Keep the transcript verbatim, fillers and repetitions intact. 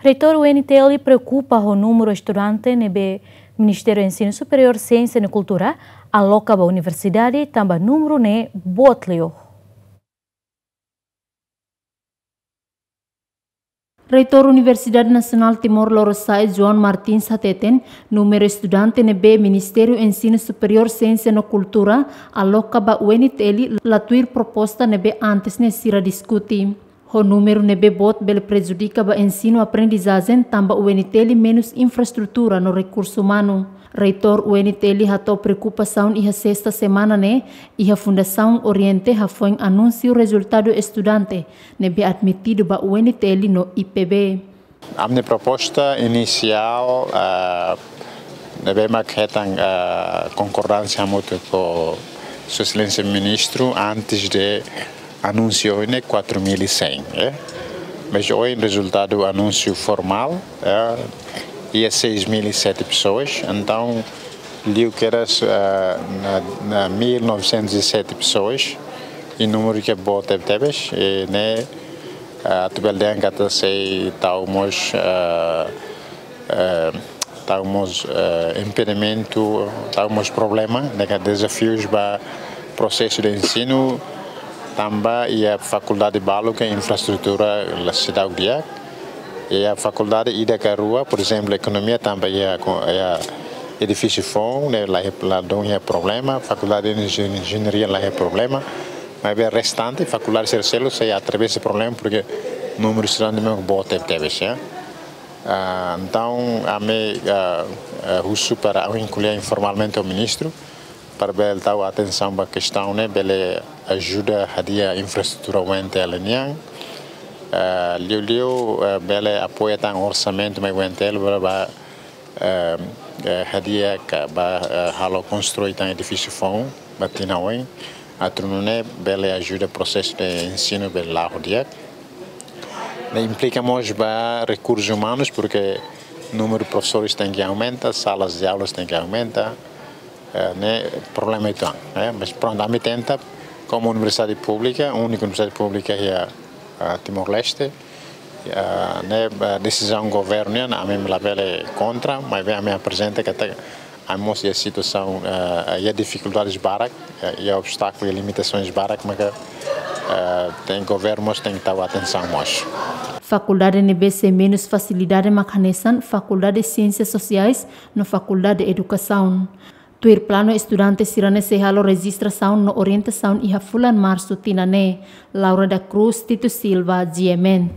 Reitór U N T L preokupa ho númeru estudante ne'ebé Ministériu Ensinu Superiór, Siénsia no Kultura aloka ba universidade, tanba númeru ne'e boot liu. Reitór Universidade Nasionál Timor Lorosa'e, João Martins, hateten númeru estudante ne'ebé Ministériu Ensinu Superiór, Siénsia no Kultura aloka ba U N T L la tuir proposta ne'ebé antes ne'e sira diskute. Ho númeru ne'ebé boot bele prejudika ba ensinu-aprendizajen, tanba U N T L menus infraestrutura no rekursu umanu. Reitór U N T L hato'o preokupasaun iha sesta semana ne'e, iha Fundasaun Oriente hafoin anunsiu rezultadu estudante ne'ebé admitidu ba U N T L no I P B. Ami-nia proposta inisiál, ah, ne'ebé mak hetan, ah, konkordánsia hamutuk ho Sua Exelénsia Ministru antes de anúnsiu ne'e quatro mil e cem, eh? Mas ohin rezultadu anúnsiu formál, eh, iha seis mil e sete pessoas. Entaun, liu kedas, eh, na, na mil novecentos e sete pessoas, i númeru ke boot tebetebes, i ne'e, eh, atu bele dehan katak sei tau mós, eh, eh, tau mós, eh, impedimentu, tau mós problema, ne'e ka dezafius ba prosesu de ensinu, tanba iha fakuldade balu ke infraestrutura la seidauk di'ak, iha fakuldade ida ka rua, por ezemplu, ekonomia tanba iha ko-, iha edifísiu foun, ne'e la iha, la dún iha problema, fakuldade de enjen-, enjeñaria la iha problema, maibé restante fakuldade sira seluk sei atravesa problema, porke númeru estudante mós boot tebetebes, ya. Ah, entaun, ami, ah, ah, husu para ami ko'alia informalmente ho ministru, para bele tau atensaun ba kestaun ne'e, bele ajuda hadi'a infraestrutura U N T L nian. Ah, liuliu, ah, bele apoia tan orsamentu mai U N T L, bele ba, ah, ah, hadi'a ka ba, ah, halo konstrui tan edifísiu foun ba tinan oin, atu nune'e bele ajuda prosesu de ensinu bele la'o di'ak. Ne'e implika mós ba rekursus umanus, porke númeru profesores tenke aumenta, salas de aulas tenke aumenta, eh, ne'e problema uitoan, eh. Mas prontu, ami tenta, komu universidade públika, úniku universidade públika iha, ah, Timor-Leste, ah, ne'e, ah, desizaun governu nian, ami labele kontra, maibé ami aprezenta katak ami mós iha situasaun, eh, iha difikuldades barak, eh, iha obstákulu, iha limitasaun barak, maka, eh, tenke governu mós tenke tau atensaun mós. Fakuldade ne'ebé sei menus fasilidade mak hanesan Fakuldade Siénsias Sosiais no Fakuldade Edukasaun. Tuir planu estudante sira-ne'e sei halo rejistrasaun no orientasaun iha fulan Marsu tinan ne'e. Laura da Cruz, Tito Silva, G M N.